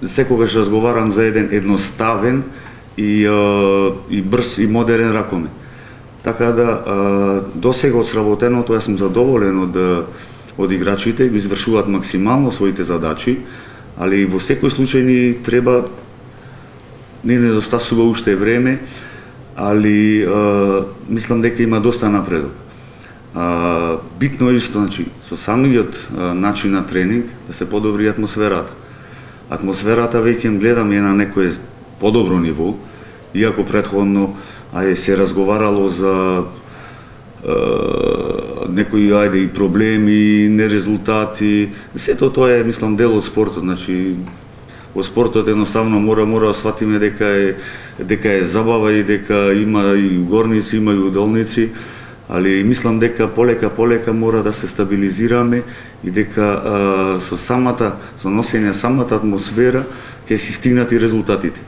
секогаш разговарам за еден едноставен и брз и модерен ракомет. Така да, досега од сработеното, јас сум задоволен од играчите, го извршуваат максимално своите задачи, али во секој случај ни треба, не недостасува уште време, али мислам дека има доста напредок. Битно исто, значи, со самиот начин на тренинг да се подобри атмосферата. Атмосферата веќе гледам е на некое подобро ниво, иако претходно се разговарало за некои и проблеми, нерезултати. Сето тоа е, мислам, дел од спортот. Значи, во спортот едноставно мора да сватиме дека е забава и дека има и горници, има и удолници, али мислам дека полека мора да се стабилизираме и дека со носење самата атмосфера ќе си стигнат и резултатите.